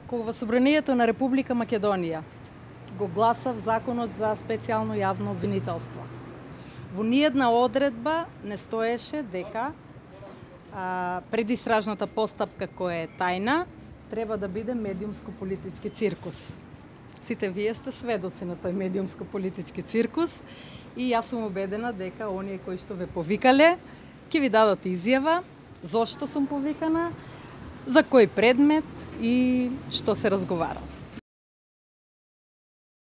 Кога во Собранието на Република Македонија го гласав Законот за специјално јавно обвинителство, во ниедна одредба не стоеше дека предистражната постапка која е тајна треба да биде медиумско-политички циркус. Сите вие сте сведоци на тој медиумско-политички циркус и јас сум убедена дека оние кои што ве повикале ќе ви дадат изјава зошто сум повикана, за кој предмет и што се разговара.